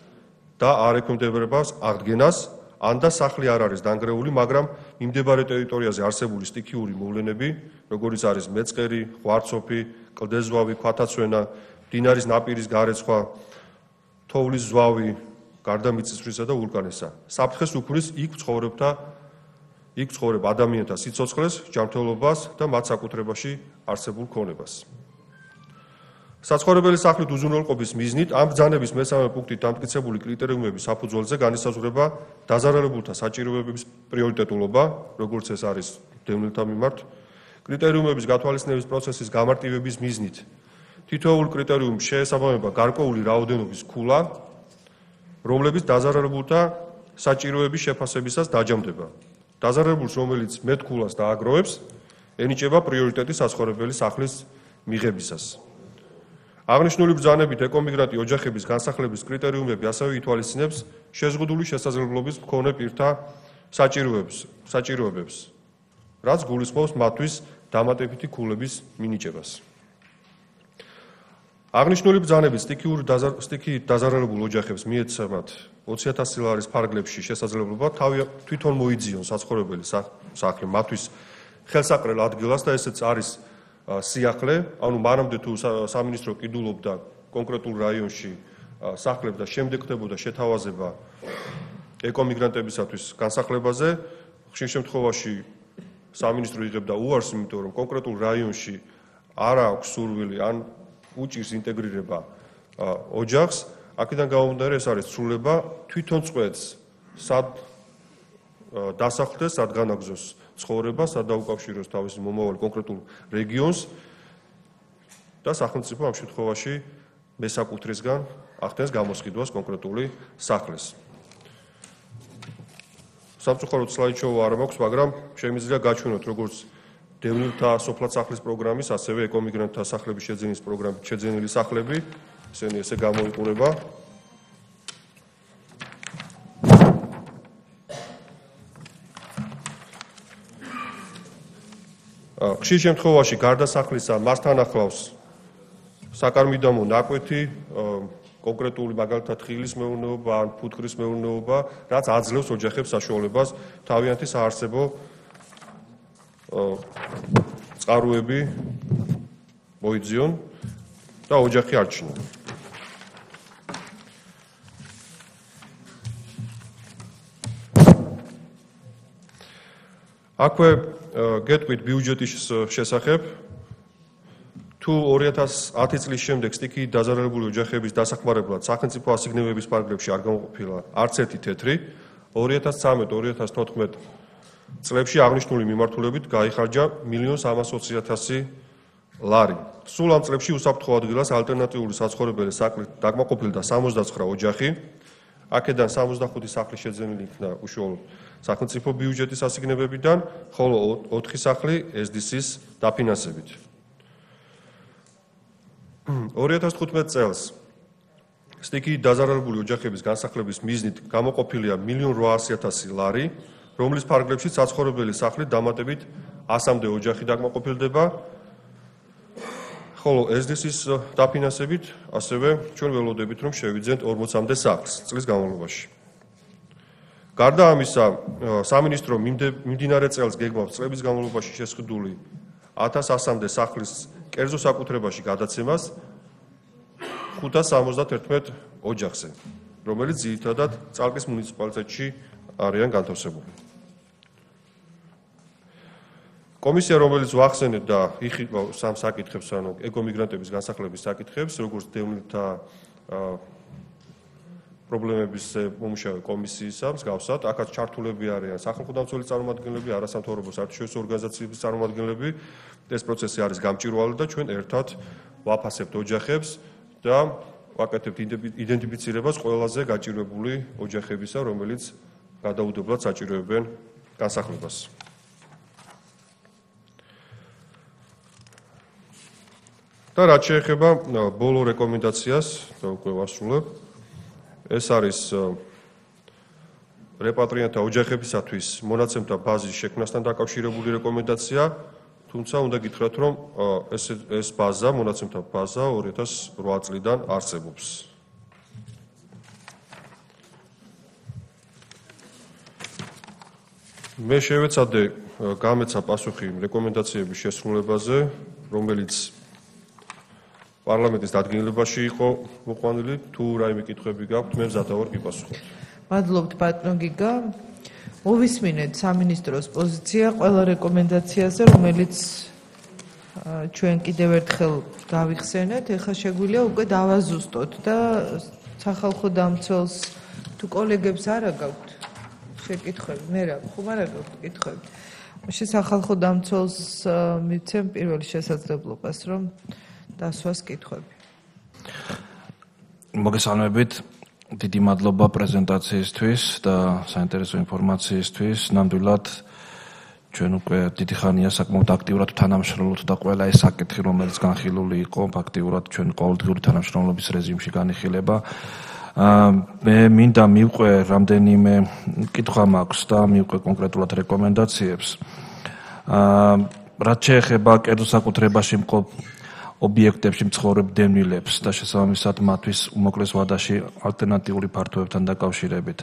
და არ ექვემდებარებას აღდგენას, ან და სახლი არ არის დანგრეული, მაგრამ მიმდებარე ტერიტორიაზე არსებული სტიქიური მოვლენები, როგორიც არის მეწყერი, ღვარცოფი, კლდეზვავი, ქვათაცვენა, მდინარის ნაპირის გარეცხვა, თოვლის ზვავი, გარდა მიწისძვრისა და ვულკანისა. საფრთხეს უქმნის იქ ცხოვრებთა, იქ ცხოვრებ ადამიანთა სიცოცხლეს, ჯანმრთელობას და მათ საკუთრებაში არსებულ ქონებას. საცხოვრებელი სახლის უზრუნველყოფის მიზნით ამ ბრძანების მესამე პუნქტით დამტკიცებული კრიტერიუმების საფუძველზე განისაზღვრება დაზარალებულთა საჭიროებების პრიორიტეტულობა, როგორც ეს არის დევნილთა მიმართ, კრიტერიუმების გათვალისწინების პროცესის გამარტივების მიზნით. თითოეულ კრიტერიუმს შეესაბამება გარკვეული რაოდენობის ქულა, რომლებიც დაზარალებულთა საჭიროების შეფასებისას დაჯამდება. დაზარალებულს, რომელიც მეტ ქულას დააგროვებს, ენიჭება პრიორიტეტი საცხოვრებელი სახლის მიღებისას. აღნიშნული ბრძანებით ეკომიგრანტი ოჯახების განსახლების კრიტერიუმები ასევე ითვალისწინებს შეზღუდული შესაძლებლობის მქონე პირთა საჭიროებებს, რაც გულისხმობს მათთვის დამატებითი ქულების მინიჭებას. აღნიშნული ბრძანებით სტიქიით დაზარალებულ ოჯახებს მიეცემათ ოცი ათასი ლარის ფარგლებში შესაძლებლობა თვითონ მოიძიონ საცხოვრებელი სახლი მათთვის ხელსაყრელ ადგილას და ესეც არის სიახლე, ანუ მანამდე თუ სამინისტრო ყიდულობდა კონკრეტულ რაიონში სახლებს და შემდეგ ხდებოდა შეთავაზება ეკომიგრანტებისათვის განსახლებაზე, ხშირ შემთხვევაში სამინისტრო იღებდა უარს, იმიტომ რომ კონკრეტულ რაიონში არ აქვს სურვილი ან უჭირს ინტეგრირება ოჯახს, აქედან გამომდინარე ეს არის ცვლილება თვითონ წყვეტს სად დასახლდეს, სად განაგზოს ცხოვრება, სად დაუკავშიროს თავისი მომავალი კონკრეტულ რეგიონს და სახელმწიფო ამ შემთხვევაში მესაკუთრისგან ახდენს გამოსყიდვას კონკრეტული სახლის. სამწუხაროდ სლაიდშოუ არ მაქვს, მაგრამ შემიძლია გაჩვენოთ როგორც დევნილთა სოფლად სახლის პროგრამის, ასევე ეკომიგრანტთა სახლების შეძენის პროგრამით შეძენილი სახლები, ესენი ესე გამოიყურება. ხშირ შემთხვევაში გარდა სახლისა მასთან ახლავს საკარმიდამო ნაკვეთი, კონკრეტული მაგალითად ხილის მეურნეობა ან ფუტკრის მეურნეობა, რაც აძლევს ოჯახებს საშუალებას თავიანთი საარსებო წყაროები მოიძიონ და ოჯახი არჩინონ. აქვე გეტყვით ბიუჯეტის შესახებ. თუ ორი ათას ათი წლის შემდეგ სტიქიით დაზარალებული ოჯახების დასახმარებლად სახელმწიფო ასიგნებების პარაგრაფში არ გამოყოფილა არც ერთი თეთრი, ორი ათას ცხრამეტ ორი ათას თოთხმეტ წლებში აღნიშნული მიმართულებით გაიხარჯა მილიონ სამას ოცი ათასი ლარი. სულ ამ წლებში უსაფრთხო ადგილას ალტერნატიული საცხოვრებელი საკლით დაკმაყოფილდა სამოცდაცხრა ოჯახი. აქედან სამოცდახუთი სახლი შეძენილი იქნა უშუალოდ სახელმწიფო ბიუჯეტის ასიგნებებიდან, ხოლო ოთხი სახლი ეს დი სის დაფინანსებით. ორი ათას თხუთმეტ წელს სტიქიით დაზარალებული ოჯახების განსახლების მიზნით გამოყოფილია მილიონ რვაასი ათასი ლარი, რომლის ფარგლებში საცხოვრებელი სახლით დამატებით ასამდე ოჯახი დაკმაყოფილდება, ხოლო ეს დი სის დაფინანსებით ასევე ჩვენ ველოდებით, რომ შევიძენთ ორმოცამდე სახლს წლის განმავლობაში. გარდა ამისა, სამინისტრო მიმდინარე წელს გეგმავს წლების განმავლობაში შესყიდული ათას ასამდე სახლის კერძო საკუთრებაში გადაცემას ხუთას სამოცდათერთმეტ ოჯახზე, რომელიც ძირითადად წალკის მუნიციპალიტეტში არიან განთავსებული. კომისია, რომელიც ვახსენეთ და იხილვა სამ საკითხებს, ანუ ეკომიგრანტების განსახლების საკითხებს, როგორც დევნილთა პრობლემების მომუშავე კომისიისა, მსგავსად, აქაც ჩართულები არიან სახალხო დამცველი წარმომადგენლები, არასამთავრობო საერთაშორისო ორგანიზაციების წარმომადგენლები. ეს პროცესი არის გამჭვირვალე და ჩვენ ერთად ვაფასებთ ოჯახებს და ვაკეთებთ იდენტიფიცირებას ყველაზე გაჭირვებული ოჯახებისა, რომელიც გადაუდებლად საჭიროებენ განსახლებას. და რაც შეეხება ბოლო რეკომენდაციას, და უკვე ვასრულებ, ეს არის რეპატრიანტთა ოჯახებისათვის მონაცემთა ბაზის შექმნასთან დაკავშირებული რეკომენდაცია, თუმცა უნდა გითხრათ, რომ ეს ეს ბაზა, მონაცემთა ბაზა ორი ათას რვა წლიდან არსებობს. მე შევეცადე გამეცა პასუხი რეკომენდაციების შესრულებაზე, რომელიც პარლამენტის დადგენილებაში იყო მოყვანილი. თუ რაიმე კითხვები გაქვთ, მე მზად ვარ გიპასუხოთ. მადლობთ ბატონო გიგა. მოვისმინეთ სამინისტროს პოზიცია ყველა რეკომენდაციაზე, რომელიც ჩვენ კიდევ ერთხელ გავიხსენეთ. ეხლა შეგვიძლია უკვე დავაზუსტოთ და სახალხო დამცველს თუ კოლეგებს არა გაქვთ შეკითხვები, მე რა, ხომ არა გაქვთ კითხვები. მაშინ სახალხო დამცველს მიცემ პირველ შესაძლებლობას, რომ დასვას კითხვები. მოგესალმებით. დიდი მადლობა პრეზენტაციისთვის და საინტერესო ინფორმაციისთვის. ნამდვილად ჩვენ უკვე დიდი ხანია საკმაოდ აქტიურად თანამშრომლობთ და ყველა ეს საკითხი, რომელიც განხილული იყო, ფაქტიურად ჩვენ ყოველდღიური თანამშრომლობის რეჟიმში განიხილება. მე მინდა მივყვე რამდენიმე კითხვა მაქვს და მივყვე კონკრეტულად რეკომენდაციებს. რაც შეეხება კერძო საკუთრებაში მყოფ ობიექტებში მცხოვრებ დევნილებს და შესაბამისად მათთვის უმოკლეს ვადაში ალტერნატიული ფართოებთან დაკავშირებით.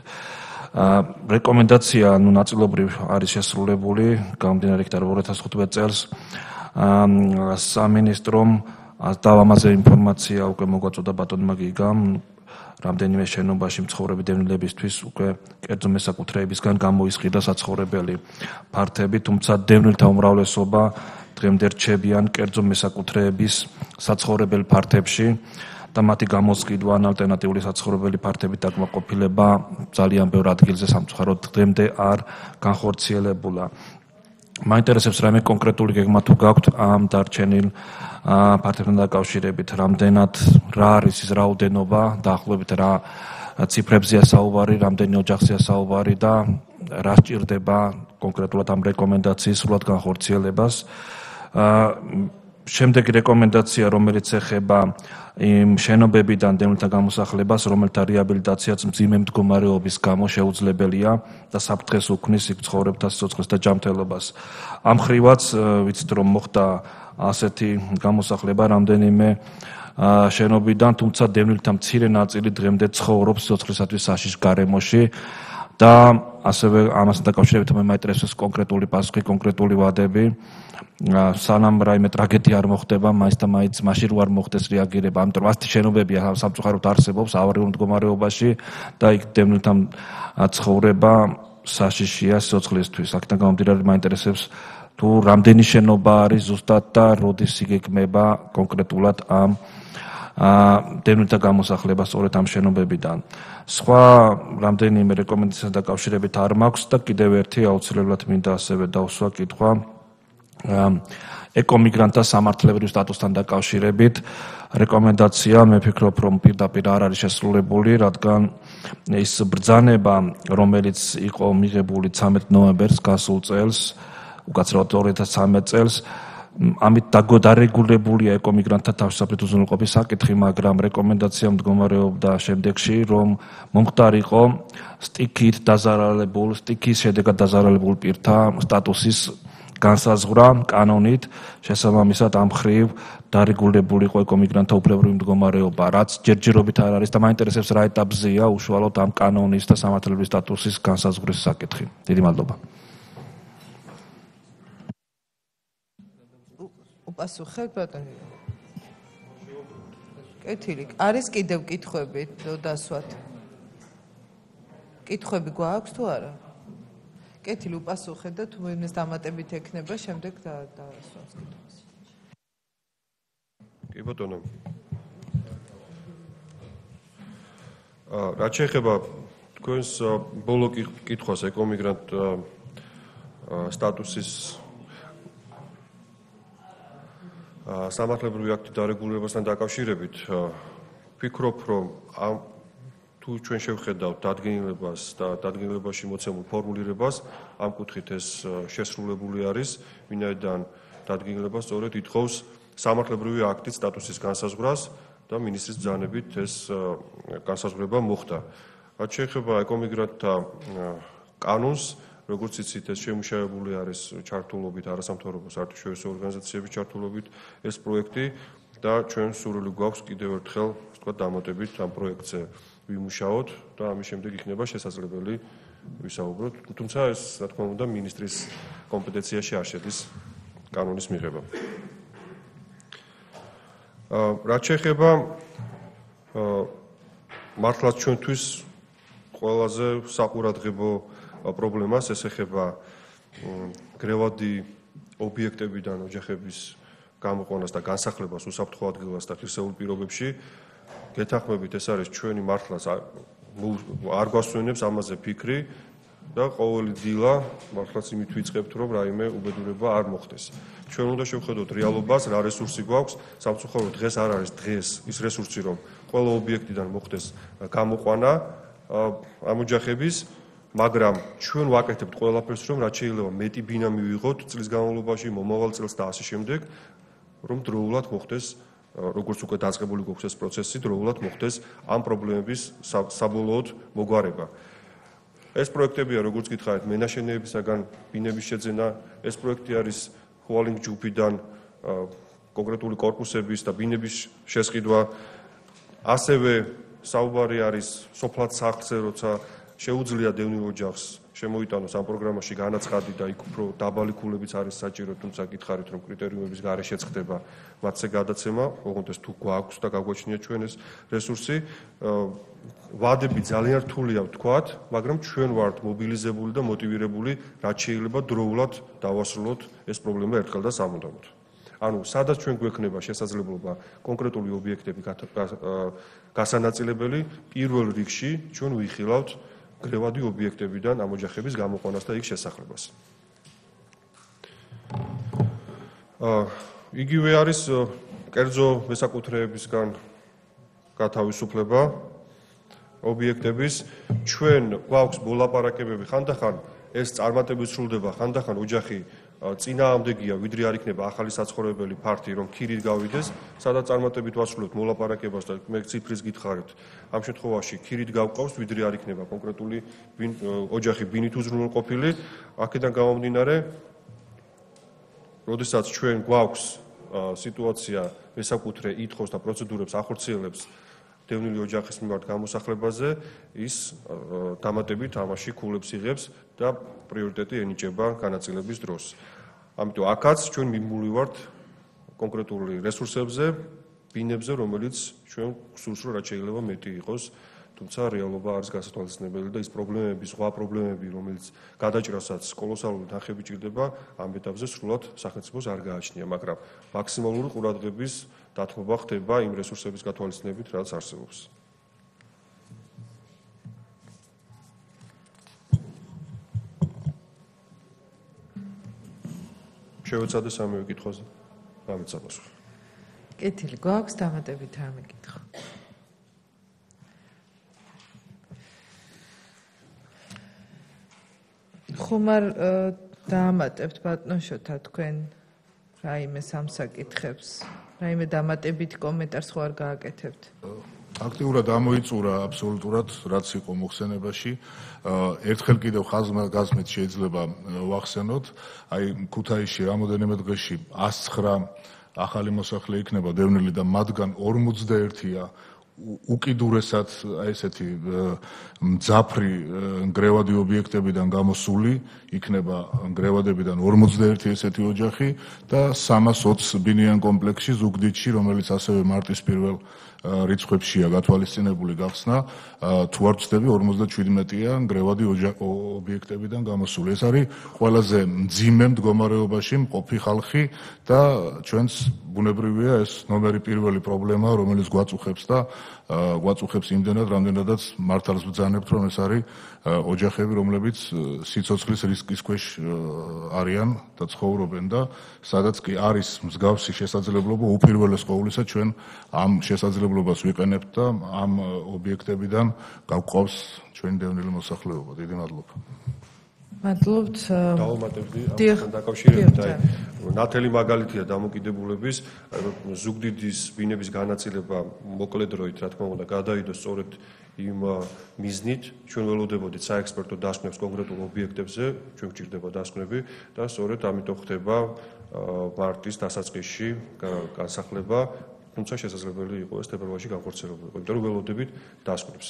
რეკომენდაცია ნუ ნაწილობრივ არის შესრულებული, გამომდინარე იქიდან ორი ათას თხუთმეტ წელს სამინისტრომ დავამაზე ინფორმაცია უკვე მოგვაწოდა ბატონმა გიგამ, რამდენიმე შენობაში მცხოვრები დევნილებისთვის უკვე კერძო მესაკუთრეებისგან გამოისყიდა საცხოვრებელი ფართები, თუმცა დევნილთა უმრავლესობა დღემდე რჩებიან კერძო მესაკუთრეების საცხოვრებელ ფართებში და მათი გამოსყიდვა ან ალტერნატიული საცხოვრებელი ფართებით დაკმაყოფილება ძალიან ბევრ ადგილზე სამწუხაროდ დღემდე არ განხორციელებულა. მაინტერესებს რაიმე კონკრეტული გეგმა თუ გაქვთ ამ დარჩენილ ფართებთან დაკავშირებით, რამდენად რა არის ის რაოდენობა, დაახლოებით რა ციფრებზეა საუბარი, რამდენი ოჯახზეა საუბარი და რა სჭირდება კონკრეტულად ამ რეკომენდაციის სრულად განხორციელებას. შემდეგი რეკომენდაცია, რომელიც ეხება იმ შენობებიდან დევნილთა გამოსახლებას, რომელთა რეაბილიტაციაც მძიმე მდგომარეობის გამო შეუძლებელია და საფრთხეს უქმნის იქ მცხოვრებთა სიცოცხლეს და ჯანმრთელობას. ამ ხრივაც ვიცით, რომ მოხდა ასეთი გამოსახლება რამდენიმე შენობიდან, თუმცა დევნილთა მცირე ნაწილი დღემდე ცხოვრობს სიცოცხლისათვის საშიშ გარემოში და ასევე ამასთან დაკავშირებით მე მაინტერესებს კონკრეტული პასუხი, კონკრეტული ვადები. სანამ რაიმე ტრაგედია არ მოხდება, მაინც და მაინც მაშინ რო არ მოხდეს რეაგირება, ამიტომ ასეთი შენობებია სამწუხაროდ არსებობს ავარიულ მდგომარეობაში და იქ დევნილთა ცხოვრება საშიშია სიცოცხლისთვის. აქედან გამომდინარე მაინტერესებს თუ რამდენი შენობა არის ზუსტად და როდის იგეგმება კონკრეტულად ამ დევნილთა გამოსახლება სწორედ ამ შენობებიდან. სხვა რამდენიმე რეკომენდაციასთან დაკავშირებით არ მაქვს და კიდევ ერთი აუცილებლად მინდა ასევე დავსვა კითხვა ეკომიგრანტთა სამართლებრივ სტატუსთან დაკავშირებით. რეკომენდაცია მე ვფიქრობ რომ პირდაპირ არ არის შესრულებული, რადგან ის ბრძანება, რომელიც იყო მიღებული ცამეტ ნოემბერს გასულ წელს, უკაცრავად ორი ათას ცხრამეტ წელს, ამით დარეგულებულია ეკომიგრანტთა თავშესაფრით უზრუნველყოფის საკითხი, მაგრამ რეკომენდაცია მდგომარეობდა შემდეგში, რომ მომხდარიყო სტიქით დაზარალებულ, სტიქის შედეგად დაზარალებულ პირთა სტატუსის განსაზღვრა კანონით, შესაბამისად ამ მხრივ დარეგულებულია ეკომიგრანტთა უფლებრივი მდგომარეობა, რაც ჯერჯერობით არ არის და მაინტერესებს რა ეტაპზეა უშუალოდ ამ კანონის და სამართლებრივი სტატუსის განსაზღვრის საკითხი. დიდი მადლობა. უპასუხებ ბატონო. კეთილი. არის კიდევ კითხვები დასვათ? კითხვები გვაქვს თუ არა? კეთილი უპასუხე და თუ იმის დამატებით ექნება, შემდეგ დავასვამს კითხვას. კი ბატონო. აა რაც შეეხება თქვენს ბოლო კითხვას ეკომიგრანტ სტატუსის სამართლებრივი აქტი დარეგულირებასთან დაკავშირებით, ვფიქრობ, რომ ამ თუ ჩვენ შევხედავთ დადგენილებას და დადგენილებაში მოცემულ ფორმულირებას, ამ კუთხით ეს შესრულებული არის, ვინაიდან დადგენილება სწორედ ითხოვს სამართლებრივი აქტის სტატუსის განსაზღვრას და მინისტრის ბრძანებით ეს განსაზღვრება მოხდა. რაც შეეხება ეკომიგრანტთა კანონს, როგორც იცით, ეს შემუშავებული არის ჩართულობით არასამთავრობო საერთაშორისო ორგანიზაციების ჩართულობით ეს პროექტი და ჩვენ სურვილი გვაქვს კიდევ ერთხელ, ასე ვთქვათ, დამატებით ამ პროექტზე ვიმუშაოთ და ამის შემდეგ იქნება შესაძლებელი ვისაუბროთ. თუმცა ეს, რა თქმა უნდა, მინისტრის კომპეტენციაში არ შედის კანონის მიღება. რაც შეეხება მართლაც ჩვენთვის ყველაზე საყურადღებო პრობლემას, ეს ეხება გრევადი ობიექტებიდან ოჯახების გამოყვანას და განსახლებას უსაფრთხო ადგილას და ღირსეულ პირობებში. გეთანხმებით, ეს არის ჩვენი მართლაც არ გვასვენებს ამაზე ფიქრი და ყოველი დილა მართლაც იმით ვიწყებთ, რომ რაიმე უბედურება არ მოხდეს. ჩვენ უნდა შევხედოთ რეალობას, რა რესურსი გვაქვს, სამწუხაროდ დღეს არ არის დღეს ის რესურსი, რომ ყველა ობიექტიდან მოხდეს გამოყვანა ამ ოჯახების, მაგრამ ჩვენ ვაკეთებთ ყველაფერს, რომ რაც შეიძლება მეტი ბინა მივიღოთ წლის განმავლობაში, მომავალ წელს და ასე შემდეგ, რომ დროულად მოხდეს, როგორც უკვე დაწყებული გვაქვს ეს პროცესი, დროულად მოხდეს ამ პრობლემების საბოლოოდ მოგვარება. ეს პროექტებია, როგორც გითხარით, მენაშენეებისაგან ბინების შეძენა, ეს პროექტი არის ჰუალინგ ჯგუფიდან კონკრეტული კორპუსების და ბინების შესყიდვა, ასევე საუბარი არის სოფლად სახლზე, როცა შეუძლია დევნილ ოჯახს შემოიტანოს ამ პროგრამაში განაცხადი და იქ უფრო დაბალი ქულებიც არის საჭირო, თუმცა გითხარით, რომ კრიტერიუმების გარეშეც ხდება მათზე გადაცემა, ოღონდ ეს თუ გვაქვს და გაგვაჩნია ჩვენ ეს რესურსი. ვადები ძალიან რთულია ვთქვათ, მაგრამ ჩვენ ვართ მობილიზებული და მოტივირებული, რაც შეიძლება დროულად დავასრულოთ ეს პრობლემა ერთხელ და სამუდამოდ. ანუ სადაც ჩვენ გვექნება შესაძლებლობა კონკრეტული ობიექტები გასანაწილებელი, პირველ რიგში ჩვენ ვიხილავთ გრევადი ობიექტებიდან ამ ოჯახების გამოყვანას და იქ შესახლებას. იგივე არის კერძო მესაკუთრეებისგან გათავისუფლება ობიექტების. ჩვენ გვაქვს მოლაპარაკებები, ხანდახან ეს წარმატებით სრულდება, ხანდახან ოჯახი წინააღმდეგია, ვიდრე არ იქნება ახალი საცხოვრებელი ფართი, რომ ქირით გავიდეს, სადაც წარმატებით ვასრულებთ მოლაპარაკებას და მე ციფრის გითხარით. ამ შემთხვევაში ქირით გავყავს, ვიდრე არ იქნება კონკრეტული ოჯახი ბინით უზრუნველყოფილი. აქედან გამომდინარე, როდესაც ჩვენ გვაქვს სიტუაცია, მესაკუთრე ითხოვს და პროცედურებს ახორციელებს დევნილი ოჯახის მიმართ გამოსახლებაზე, ის დამატებით ამაში ქულებს იღებს და პრიორიტეტი ენიჭება განაწილების დროს. ამიტომ აქაც ჩვენ მიმული ვართ კონკრეტული რესურსებზე, ბინებზე, რომელიც ჩვენ გსურს, რომ რაც შეიძლება მეტი იყოს, თუმცა რეალობა არის გასათვალისწინებელი და ის პრობლემები, სხვა პრობლემები, რომელიც გადაჭრასაც კოლოსალური თანხები ჭირდება, ამ ეტაპზე სრულად სახელმწიფოს არ გააჩნია, მაგრამ მაქსიმალური ყურადღების დათმობა ხდება იმ რესურსების გათვალისწინებით, რაც არსებობს. შევეცადე სამივე კითხვაზე. გამეცა პასუხი. კეთილი გვაქვს დამატებით რამე კითხვა. ხომარ დაამატებთ ბატონშოთა თქვენ რაიმე სამსაკითხებს, რაიმე დამატებით კომენტარს ხო არ გააკეთებთ? აქტიურად ამოიწურა აბსოლუტურად რაც იყო მოხსენებაში. ერთხელ კიდევ ხაზმა გაზმით შეიძლება ვახსენოთ, აი ქუთაისში რამოდენიმე დღეში ას ცხრა ახალი მოსახლე იქნება დევნილი და მათგან ორმოცდაერთია უკიდურესად აი ესეთი მძაფრი ნგრევადი ობიექტებიდან გამოსული, იქნება ნგრევადებიდან ორმოცდაერთი ესეთი ოჯახი და სამას ოცი ბინიან კომპლექსში ზუგდიდში, რომელიც ასევე მარტის პირველ რიცხვებშია გათვალისწინებული გახსნა, თუ არ ვცდები ორმოცდაჩვიდმეტია ნგრევადი ობიექტებიდან გამოსული. ეს არის ყველაზე მძიმე მდგომარეობაში მყოფი ხალხი და ჩვენს ბუნებრივია ეს ნომერი პირველი პრობლემა, რომელიც გვაწუხებს და გვაწუხებს იმდენად, რამდენადაც მართალს ვბრძანებთ, რომ ეს არის ოჯახები, რომლებიც სიცოცხლის რისკის ქვეშ არიან და ცხოვრობენ და სადაც კი არის მსგავსი შესაძლებლობა, უპირველეს ყოვლისა ჩვენ ამ შესაძლებლობას ვიყენებთ და ამ ობიექტებიდან გავყავს ჩვენი დევნილი მოსახლეობა. დიდი მადლობა. მადლობთ. დავუმატებდი ამასთან დაკავშირებით, აი ნათელი მაგალითია დამოკიდებულების, ზუგდიდის ბინების განაწილება მოკლე დროით, რა თქმა უნდა, გადაიდო სწორედ იმ მიზნით, ჩვენ ველოდებოდით საექსპერტო დასკვნებს კონკრეტულ ობიექტებზე, ჩვენ გვჭირდება დასკვნები და სწორედ ამიტომ ხდება მარტის დასაწყისში განსახლება, თუმცა შესაძლებელი იყო ეს თებერვალში განხორციელებული, იმიტომ რომ ველოდებით დასკვნებს.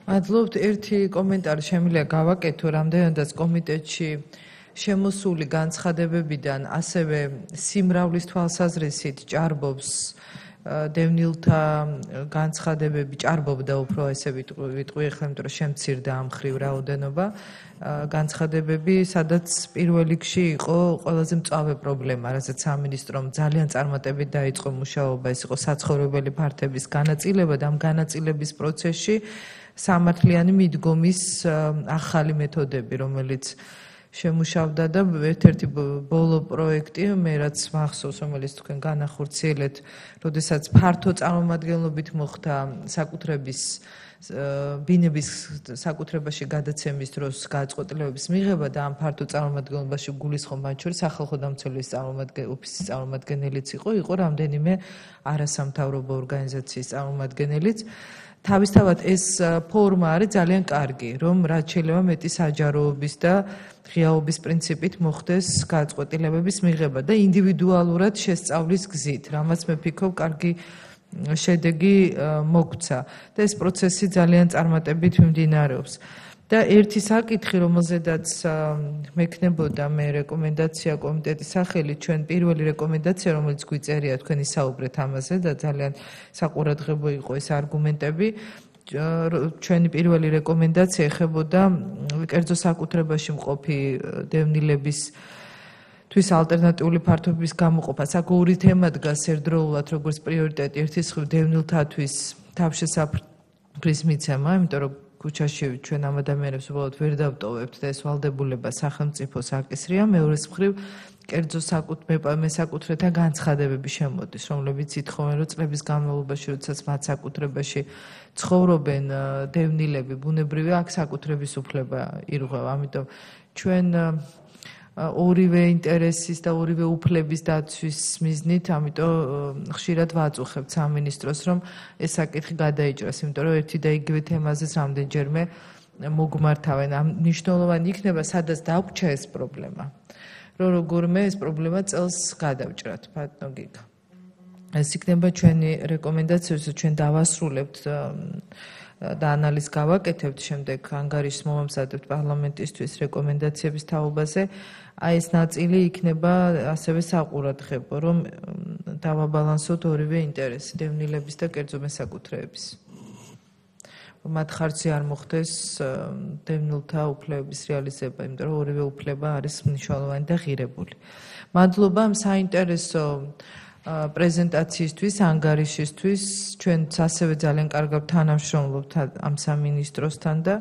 მადლობთ. ერთი კომენტარი შემიძლია გავაკეთო, რამდენადაც კომიტეტში შემოსული განცხადებებიდან ასევე სიმრავლის თვალსაზრისით ჭარბობს დევნილთა განცხადებები, ჭარბობდა უფრო ესე ვიტყვი ახლა, იმიტომ რომ შემცირდა ამ ხრივ რაოდენობა განცხადებები, სადაც პირველ რიგში იყო ყველაზე მწვავე პრობლემა, რასაც სამინისტრომ ძალიან წარმატებით დაიწყო მუშაობა, ეს იყო საცხოვრებელი ფართების განაწილება და ამ განაწილების პროცესში სამართლიანი მიდგომის ახალი მეთოდები, რომელიც შემუშავდა და ერთ-ერთი ბოლო პროექტი, მე რაც მახსოვს, რომელიც თქვენ განახორციელეთ, როდესაც ფართო წარმომადგენლობით მოხდა საკუთრების ბინების საკუთრებაში გადაცემის დროს გადაწყვეტილებების მიღება და ამ ფართო წარმომადგენლობაში გულისხმობ მათ შორის სახალხო დამცველების ოფისის წარმომადგენელიც იყო, იყო რამდენიმე არასამთავრობო ორგანიზაციის წარმომადგენელიც. თავისთავად ეს ფორმა არის ძალიან კარგი, რომ რაც შეიძლება მეტი საჯაროობის და ღიაობის პრინციპით მოხდეს გადაწყვეტილებების მიღება და ინდივიდუალურად შესწავლის გზით, რამაც მე ვფიქრობ, კარგი შედეგი მოგვცა და ეს პროცესი ძალიან წარმატებით მიმდინარეობს. და ერთი საკითხი, რომელზედაც მექნებოდა მე რეკომენდაცია კომიტეტის სახელით, ჩვენ პირველი რეკომენდაცია, რომელიც გვიწერია, თქვენ ისაუბრეთ ამაზე და ძალიან საყურადღებო იყო ეს არგუმენტები. ჩვენი პირველი რეკომენდაცია ეხებოდა კერძო საკუთრებაში მყოფი დევნილების თვის ალტერნატიული ფართობების გამოყოფას. აქ ორი თემა დგას ერთდროულად, როგორც პრიორიტეტი, ერთის მხრივ დევნილთათვის თავშესაფრის მიცემა, იმიტომ რომ ქუჩაში ჩვენ ამ ადამიანებს უბრალოდ ვერ დავტოვებთ და ეს ვალდებულება სახელმწიფოს აკისრია, მეორეს მხრივ კერძო საკუთრეთა განცხადებები შემოდის, რომლებიც ითხოვენ, რომ წლების განმავლობაში, როდესაც მათ საკუთრებაში ცხოვრობენ დევნილები, ბუნებრივია აქ საკუთრების უფლება ირღვევა. ამიტომ ჩვენ ორივე ინტერესის და ორივე უფლების დაცვის მიზნით, ამიტომ ხშირად ვაწუხებთ სამინისტროს, რომ ეს საკითხი გადაიჭრას, იმიტომ რომ ერთი და იგივე თემაზეც რამდენჯერმე მოგმართავენ. ამ მნიშვნელოვანი იქნება, სადაც დაგვჭა ეს პრობლემა, რომ როგორმე ეს პრობლემა წელს გადავჭრათ, ბატონო გიგა. ეს იქნება ჩვენი რეკომენდაცია, რომ ჩვენ დავასრულებთ და ანალიზს გავაკეთებთ, შემდეგ ანგარიშს მომამზადებთ პარლამენტისთვის რეკომენდაციების თაობაზე. აი ეს ნაწილი იქნება ასევე საყურადღებო, რომ დავაბალანსოთ ორივე ინტერესი, დევნილების და კერძო მესაკუთრეების. მათ ხარჯზე არ მოხდეს დევნილთა უფლებების რეალიზება, იმიტომ რომ ორივე უფლება არის მნიშვნელოვანი და ღირებული. მადლობა ამ საინტერესო პრეზენტაციისთვის, ანგარიშისთვის. ჩვენც ასევე ძალიან კარგად თანამშრომლობთ ამ სამინისტროსთან და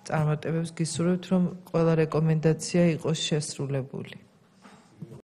წარმატებებს გისურვებთ, რომ ყველა რეკომენდაცია იყოს შესრულებული.